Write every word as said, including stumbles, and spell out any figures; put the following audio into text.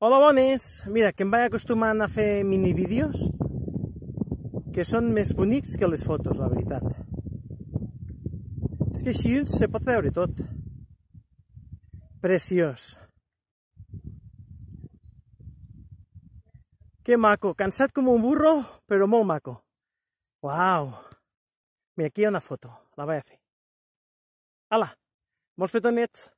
Hola, bones! Mira, que em vaig acostumant a fer minivídeos que són més bonics que les fotos, la veritat. És que així se pot veure tot. Preciós. Que maco, cansat com un burro, però molt maco. Uau! Mira, aquí hi ha una foto, la vaig a fer. Hala, molts petonets!